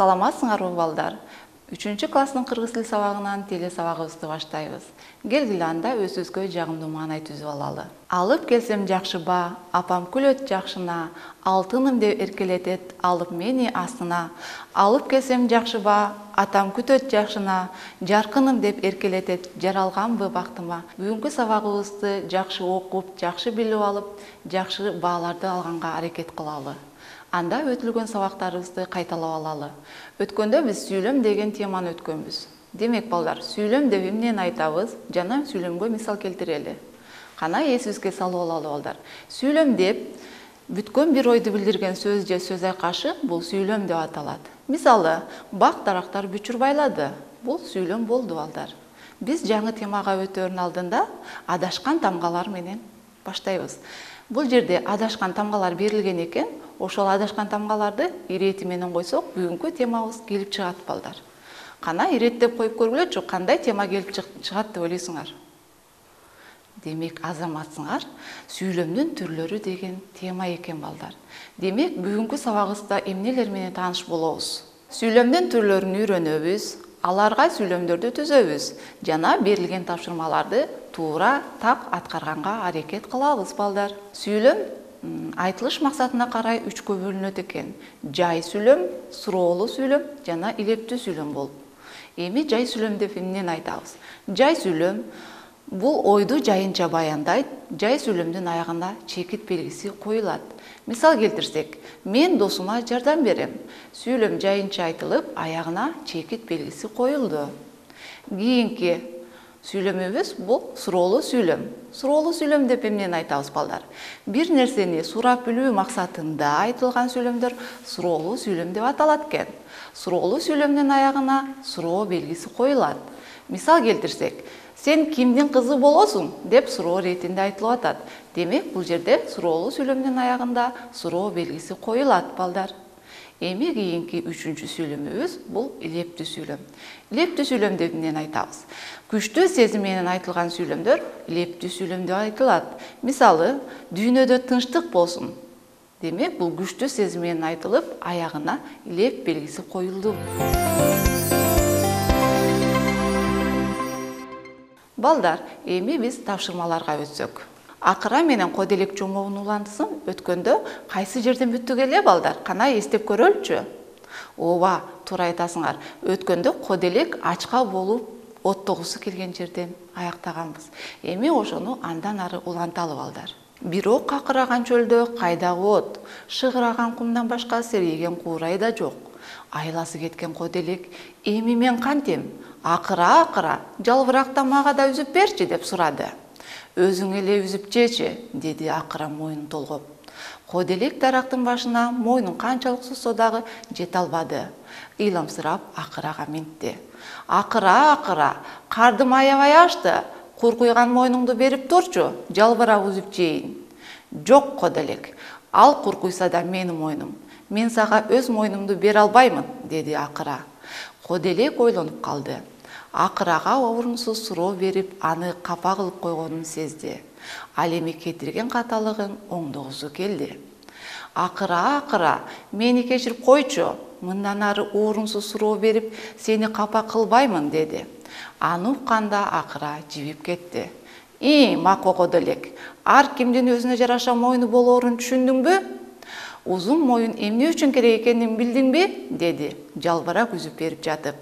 Саламатсыңарбы балдар? 3-класстын кыргыз тил сабагынан теле сабагыбызды баштайбыз. Келгиле анда өзүбүзгө жагымдуу маанай түзүп алалы. Алып келсем жакшыба, апам күлөт жакшына, алтыным деп эркелетет, алып мени астына. Алып келсем жакшыба, атам күтөт жакшына, жаркыным деп эркелетет, жаралганбы бактыма. Бүгүнкү сабагыбызды жакшы окуп, жакшы билип алып, жакшы бааларды алганга аракет кылалы. Анда өтүлгөн сабактарыбызды кайталап алалы. Өткөндө биз сүйлөм деген теманы өткөнбүз. Демек балдар, сүйлөм деп эмнени айтабыз? Жана сүйлөмгө мисал келтирели. Кана эсибизге салып алалы балдар. Сүйлөм деп бүткөн бир ойду билдирген сөз же сөз айкашы бул сүйлөм деп аталат. Мисалы, бак дарактар бүчүр байлады. Бул сүйлөм болду балдар. Биз жаңы темага өтөөрүн алдында адашкан тамгалар менен баштайбыз. Бул жерде адашкан тамгалар берилген экен. Ошол адашкан тамгаларды ирети менен койсок, бүгүнкү темабыз келип чыгат балдар. Кана иреттеп коюп көргүлөчү, кандай тема келип чыгат деп ойлойсуңар? Демек, азаматсыңар, сүйлөмдүн түрлөрү деген тема экен балдар. Демек, бүгүнкү сабагыбызда эмнелер менен тааныш болобуз? Сүйлөмдүн түрлөрүн үйрөнөбүз, аларга сүйлөмдөрдү түзөбүз, жана берилген тапшырмаларды туура так аткарганга аракет кылабыз балдар. Сүйлөм айтылыш максатына карай 3кө бөлүнөт экен. Жай сүйлөм, суроолуу сүйлөм жана илептүү сүйлөм болуп. Эми жай сүйлөм деп эмнени айтабыз? Жай сүйлөм бул ойду жайынча баяндайт. Жай сүйлөмдүн аягына чекит белгиси коюлат. Мисал келтирсек, мен досума жардам берем. Сүйлөм жайынча айтылып, аягына чекит белгиси коюлду. Кийинки сүйлөмүбүз бул суроолуу сүйлөм. Суроолуу сүйлөм деп эмнени айтабыз балдар? Бир нерсени сурап билүү максатында айтылган сүйлөмдөр суроолуу сүйлөм деп аталат экен. Суроолуу сүйлөмдүн аягына суроо белгиси коюлат. Мисал келтирсек, сен кимдин кызы болосуң деп суроо иретинде айтылып атат. Демек, бул жерде суроолуу сүйлөмдүн аягында суроо белгиси коюлат балдар. Эми кийинки 3-чү сүйлөмүбүз бул илептүү сүйлөм. Илептүү сүйлөм деп эмнени айтабыз? Күчтүү сезим менен айтылган сүйлөмдөр илептүү сүйлөм деп айтылат. Мисалы, дүйнөдө тынчтык болсун. Демек, бул күчтүү сезим менен айтылып, аягына илеп белгиси коюлду. Балдар, эми биз тапшырмаларга өтсөк. Акыра менен коделек жомогунун улантысын өткөндө кайсы жерден бүттүк эле балдар? Кана эстеп көрөлүчү? Ооба, туура айтасыңар. Өткөндө коделек ачка болуп оттогусу келген жерден аяктаганбыз. Эми ошону андан ары уланталы балдар. Бирок какыраган чөлдө кайдагы от, шыгыраган кумдан башка серейген куурай да жок. Айласы кеткен коделек, эми мен кантем? Акыра, жалбыракта мага да үзүп берчи деп сурады. Өзүң эле үзүп жечи, деди акыра мойнун толгоп. Коделек дарактын башына мойнун канчалык сузса дагы жете албады. Ыйламсырап акырага минтти. Акыра, кардым аябай ашты. Куркуйган мойнуңду берип турчу, жалбырак үзүп жейин. Жок коделек, ал куркуйса да менин мойнум. Мен сага өз мойнумду бере албаймын, деди акыра. Коделек ойлонуп калды. Акырага орунсуз суроо берип, аны капа кылып койгонун сезди. Ал эми кетирген каталыгын оңдогусу келди. Акыра, мени кечирип койчу. Мындан ары орунсуз суроо берип, сени капа кылбаймын, деди. Аны укканда акыра жибип кетти. Мако коделек, ар кимдин өзүнө жараша мойну болоорун түшүндүңбү? Узун моюн эмне үчүн керек экенин билдиңби? Деди, жалбырак үзүп берип жатып.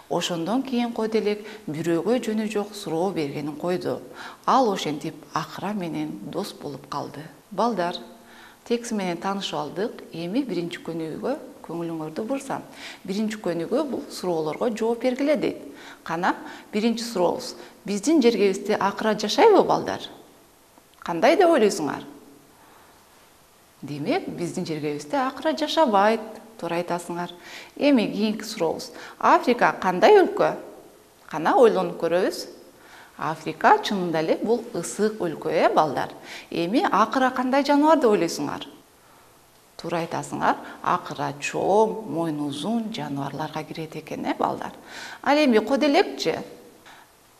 Ошондон кийин коделек бирөөгө жөнү жок суроо бергенин койду. Ал ошентип акыра менен дос болуп калды. Балдар, текст менен таанышып алдык. Эми биринчи көнүгүүгө көңүлүңөрдү бурсам. Биринчи көнүгүү бул суроолорго жооп бергиле дейт. Кана, биринчи сурообуз. Биздин жергебизде акыра жашайбы балдар? Кандай деп ойлойсуңар? Демек, биздин жергебизде акыра жашабайт. Туура айтасыңар. Эми кийинки сурообуз. Африка кандай өлкө? Кана ойлонуп көрөбүз. Африка чынында эле бул ысык өлкө, балдар. Эми акыра кандай жаныбар деп ойлойсуңар? Туура айтасыңар. Акыра чоң, мойну узун жаныбарларга кирет экен, балдар. Ал эми коделекчи?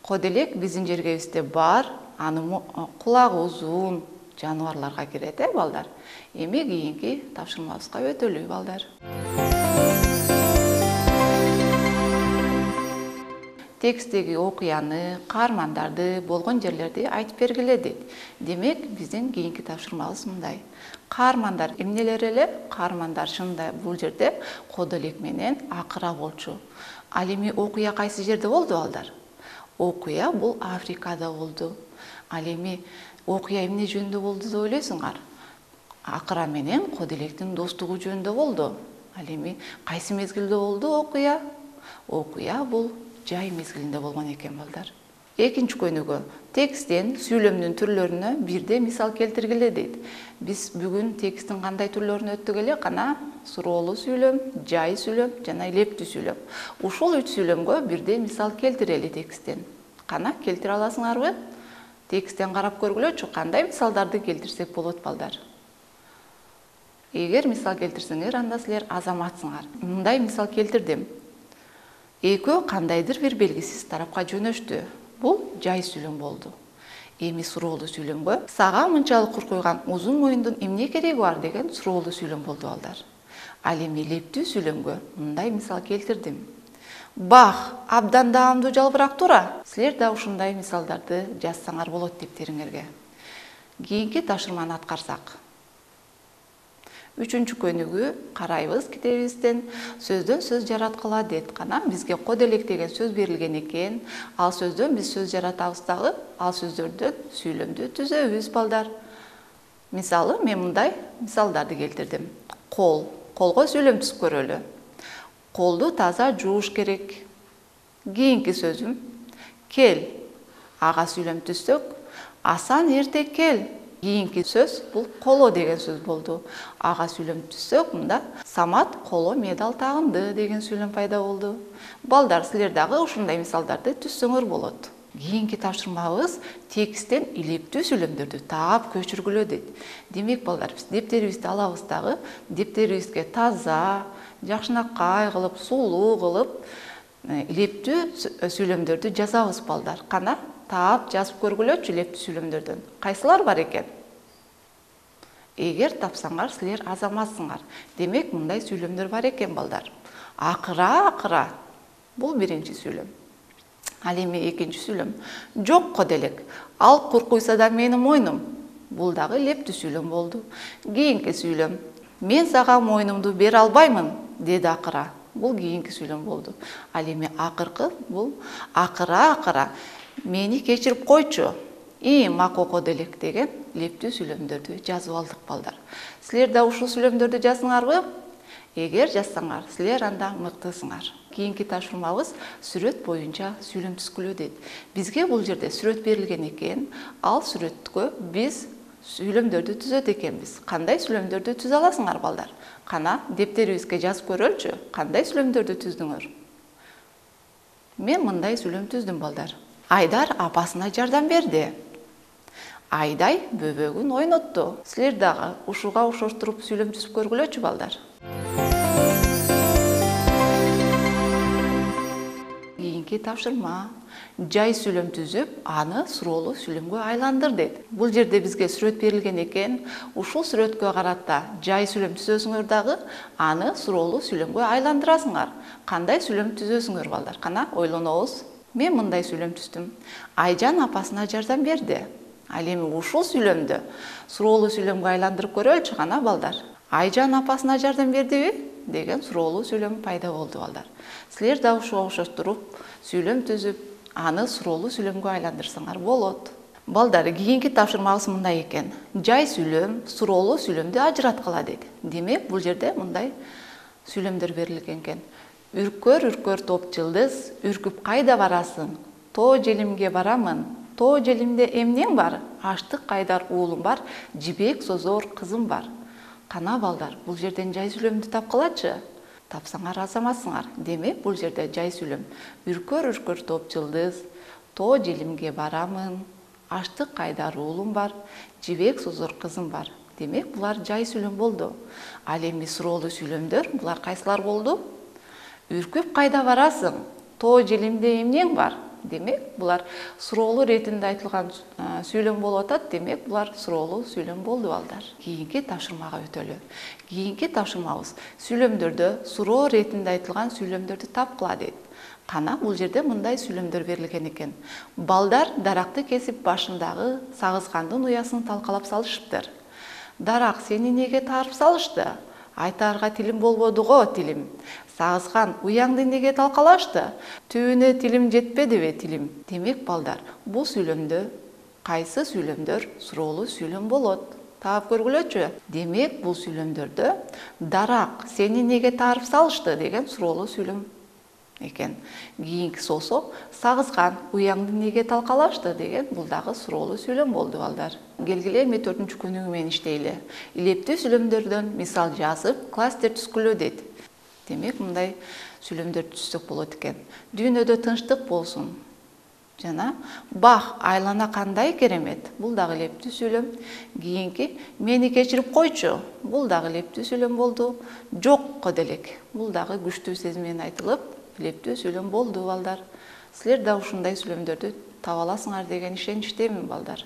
Коделек биздин жергебизде бар, анын кулагы узун жаныбарларга кирет, балдар. Эми кийинки тапшырмабызга өтөлү, балдар. текстеги окуяны, каармандарды, болгон жерлерди айтып бергиле дейт. Демек, биздин кийинки тапшырмабыз мындай. Каармандар эмнелер эле? Каармандар шынында бул жерде кодо элек менен акыра болчу. Ал эми окуя кайсы жерде болду балдар? Окуя бул Африкада болду. Ал эми окуя эмне жөнүндө болду деп ойлойсуңар? Акыра менен кодо электин достугу жөнүндө болду. Ал эми кайсы мезгилде болду окуя? Окуя бул жай мезгилинде болгон экен балдар. Экинчи көнүгө тексттен сүйлөмдүн түрлөрүнө бирде мисал келтиргиле дейт. Биз бүгүн тексттин кандай түрлөрүн өттүк эле? Кана суроолуу сүйлөм, жай сүйлөм жана илептүү сүйлөм. Ушул 3 сүйлөмгө бирде мисал келтирели тексттен. Кана келтире аласыңарбы? Тексттен карап көргүлөчү, кандай мисалдарды келтирсек болот балдар? Эгер мисал келтирсеңер, анда силер азаматсыңар. Мындай мисал келтирдим. Экөө кандайдыр бир белгисиз тарапка жөнөштү. Бул жай сүйлөм болду. Эми суроолуу сүйлөмгө сага мынчалык куркуйган узун моюндун эмне кереги бар деген суроолуу сүйлөм болду балдар. Ал эми илептүү сүйлөмгө мындай мисал келтирдим. Бах, абдан даамдуу жалбырак тура. Силер да ушундай мисалдарды жазсаңар болот дептериңерге. Кийинки тапшырманы аткарсак. 3-чү көнүгү карайбыз китебибизден. Сөздөн сөз жараткыла дейт. Кана бизге код элек деген сөз берилген экен. Ал сөздөн биз сөз жаратабыз дагы, ал сөздөрдөн сүйлөмдү түзөбүз балдар. Мисалы, мен мындай мисалдарды келтирдим. Кол, колго сүйлөм түзүп көрөлү. Колду таза жууш керек. Кийинки сөзүм кел. Ага сүйлөм түзсөк, асан эрте кел. Кийинки сөз бул коло деген сөз болду. Ага сүйлөм түзсөк, мында Самат коло медал тагынды деген сүйлөм пайда болду. Балдар, силер дагы ушундай мисалдарды түзсөңөр болот. Кийинки тапшырмабыз тексттен илептүү сүйлөмдөрдү таап көчүргүлө дейт. Демек балдар, биз дептерибизди алабыз дагы, дептерибизге таза, жакшынакай кылып, сулуу кылып, илептүү сүйлөмдөрдү жазабыз балдар. Кана таап жазып көргүлөчү илептүү сүйлөмдөрдөн. Кайсылар бар экен? Эгер тапсаңар, силер азаматсыңар. Демек, мындай сүйлөмдөр бар экен балдар. Акыра. Бул биринчи сүйлөм. Ал эми экинчи сүйлөм. Жок код элек. Ал куркуйса да менин мойнум. Бул дагы илептүү сүйлөм болду. Кийинки сүйлөм. Мен сага мойнумду бере албаймын, деди акыра. Бул кийинки сүйлөм болду. Ал эми акыркы бул акыра. Мени кечирип койчу. Макул код элек деген илептүү сүйлөмдөрдү жазып алдык балдар. Силер да ушул сүйлөмдөрдү жазсаңарбы? Эгер жазсаңар, силер анда мыктысыңар. Кийинки тапшырмабыз сүрөт боюнча сүйлөм түзгүлө дейт. Бизге бул жерде сүрөт берилген экен. Ал сүрөткө биз сүйлөмдөрдү түзөт экенбиз. Кандай сүйлөмдөрдү түзө аласыңар балдар? Кана дептерибизге жазып көрөлчү. Кандай сүйлөмдөрдү түздүңөр? Мен мындай сүйлөм түздүм балдар. Айдар апасына жардам берди. Айдай бөбөгүн ойнотту. Силер дагы ушуга ошоштуруп сүйлөм түзүп көргүлөчү балдар. Кийинки тапшырма. Жай сүйлөм түзүп, аны суроолуу сүйлөмгө айландыр дейт. Бул жерде бизге сүрөт берилген экен. Ушул сүрөткө карата жай сүйлөм түзөсүңөр дагы, аны суроолуу сүйлөмгө айландырасыңар. Кандай сүйлөм түзөсүңөр балдар? Кана ойлонобуз. Мен мындай сүйлөм түздүм. Айжан апасына жардам берди. Ал эми ушул сүйлөмдү суроолуу сүйлөмгө айландырып көрөлчү кана балдар. Айжан апасына жардам бердиби деген суроолуу сүйлөм пайда болду балдар. Силер да ушуга ошоштуруп сүйлөм түзүп, аны суроолуу сүйлөмгө айландырсаңар болот. Балдар, кийинки тапшырмабыз мындай экен. Жай сүйлөм, суроолуу сүйлөмдү ажыраткыла дейт. Демек, бул жерде мындай сүйлөмдөр берилген экен. Үркөр топ жылдыз, үркүп кайда барасың? Тоо желимге барамын. Тоо желимде эмнең бар? Аштык кайдар уулум бар, жибек созор кызым бар. Кана балдар, бул жерден жай сүйлөмдү тапкылачы. Тапсаңар азаматсыңар. Демек, бул жерде жай сүйлөм. Үркөр топ жылдыз, тоо желимге барамын, аштык кайдар уулум бар, жибек созор кызым бар. Демек, булар жай сүйлөм болду. Ал эми суроолуу сүйлөмдөр, булар кайсылар болду? Үркүп кайда барасың? Тоо желимде эмнең бар? Демек, булар суроолуу иретинде айтылган сүйлөм болуп атат. Демек, булар суроолуу сүйлөм болду балдар. Кийинки тапшырмага өтөлү. Кийинки тапшырмабыз сүйлөмдөрдө суроо иретинде айтылган сүйлөмдөрдү тапкыла дейт. Кана бул жерде мындай сүйлөмдөр берилген экен. Балдар даракты кесип башындагы сагызгандын уясын талкалап салышыптыр. Дарак сени неге таарып салышты? Айтаарга тилим болбоду го, тилим. Сагызган уяңды неге талкалашты? Түбүнө тилим жетпедиби, тилим. Демек балдар, бул сүйлөмдө кайсы сүйлөмдөр суроолуу сүйлөм болот? Таап көргүлөчү. Демек, бул сүйлөмдөрдө дарак сени неге таарып салышты деген суроолуу сүйлөм экен. Кийинкиси болсо сагызган уяңды неге талкалашты деген бул дагы суроолуу сүйлөм болду балдар. Келгиле эми 4-күнүгү менен иштейли. Илептүү сүйлөмдөрдөн мисал жазып, класстер түзгүлө дейт. Демек, мындай сүйлөмдөрдү түзсөк болот экен. Дүйнөдө тынчтык болсун. Жана бах айлана кандай керемет. Бул дагы илептүү сүйлөм. Кийинки мени кечирип койчу. Бул дагы илептүү сүйлөм болду. Жокко делек. Бул дагы күчтүү сезим менен айтылып, илептүү сүйлөм болду балдар. Силер да ушундай сүйлөмдөрдү таба аласыңар деген ишеничтемин балдар.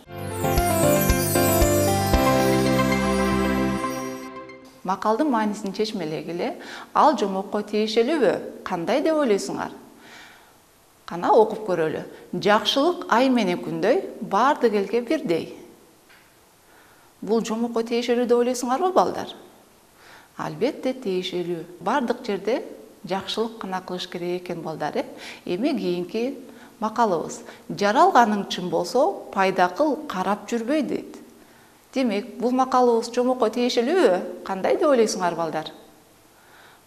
Макалдын маанисин чечмелегиле, ал жомокко тиешелүүбү? Кандай деп ойлойсуңар? Кана окуп көрөлү. Жакшылык ай менен күндөй, бардык элге бирдей. Бул жомокко тиешелүү деп ойлойсуңарбы балдар? Албетте тиешелүү. Бардык жерде жакшылык гана кылыш керек экен балдар. Эми кийинки макалыбыз. Жаралганың чын болсо, пайда кыл, карап жүрбөй дейт. Демек, бул макалыбыз жомокко тиешелүүбү? Кандай деп ойлойсуңар балдар?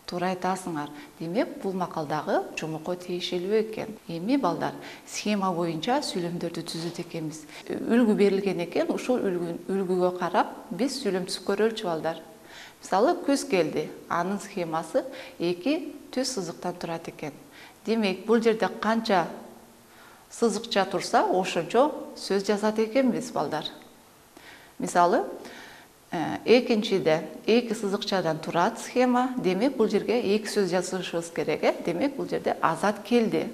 Туура айтасыңар. Демек, бул макалдагы жомокко тиешелүү экен. Эми балдар, схема боюнча сүйлөмдөрдү түзөт экенбиз. Үлгү берилген экен, ушул үлгүгө карап биз сүйлөм түзүп көрөлүчү балдар. Мисалы, күз келди. Анын схемасы 2 түз сызыктан турат экен. Демек, бул жерде канча сызыкча турса, ошончо сөз жазат экенбиз балдар. Мисалы, экинчиде 2 сызыкчадан турат схема. Демек, бул жерге 2 сөз жазышыбыз керек. Демек, бул жерде азат келди.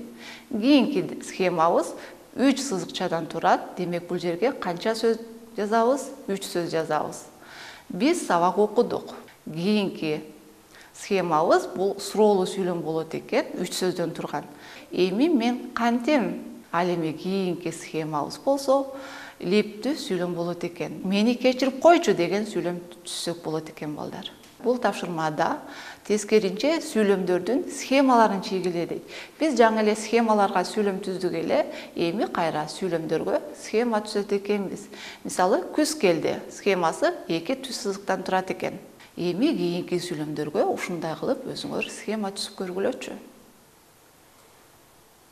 Кийинки схемабыз 3 сызыкчадан турат. Демек, бул жерге канча сөз жазабыз? 3 сөз жазабыз. Биз сабак окудук. Кийинки схемабыз бул суроолуу сүйлөм болот экен, 3 сөздөн турган. Эми мен кантем? Ал эми кийинки схемабыз болсо, илептүү сүйлөм болот экен. Мени кечирип койчу деген сүйлөм түзсөк болот экен балдар. Бул тапшырмада тескеринче сүйлөмдөрдүн схемаларын чийгиле дейт. Биз жаңы эле схемаларга сүйлөм түздүк эле, эми кайра сүйлөмдөргө схема түзөт экенбиз. Мисалы, күз келди. Схемасы 2 түз сызыктан турат экен. Эми кийинки сүйлөмдөргө ушундай кылып өзүңөр схема түзүп көргүлөчү.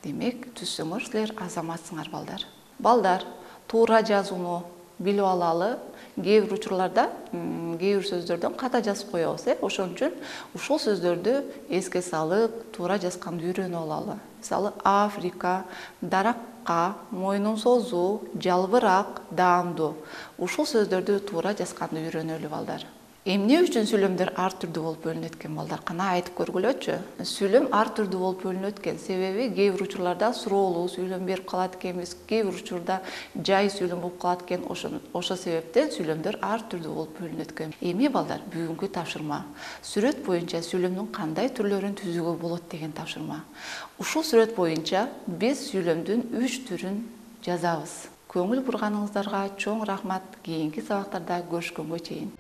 Демек, түзсөңөр силер азаматсыңар балдар. Балдар, туура жазууну билип алалы. Кээ бир учурларда кээ бир сөздөрдөн ката жазып коебуз. Ошон үчүн ушул сөздөрдү эске салып, туура жазганды үйрөнүп алалы. Мисалы, Африка, даракка, мойнун созуу, жалбырак, даамдуу. Ушул сөздөрдү туура жазганды үйрөнөлү балдар. Эмне үчүн сүйлөмдөр ар түрдүү болуп бөлүнөт экен балдар? Кана айтып көргүлөчү. Сүйлөм ар түрдүү болуп бөлүнөт экен. Себеби кээ бир учурларда суроолуу сүйлөм берип калат экенбиз, кээ бир учурда жай сүйлөм болуп калат экен. Ошо себептен сүйлөмдөр ар түрдүү болуп бөлүнөт экен. Эми балдар, бүгүнкү тапшырма сүрөт боюнча сүйлөмдүн кандай түрлөрүн түзүүгө болот деген тапшырма. Ушул сүрөт боюнча биз сүйлөмдүн 3 түрүн жазабыз. Көңүл бурганыңыздарга чоң рахмат. Кийинки сабактарда көрүшкөнгө чейин.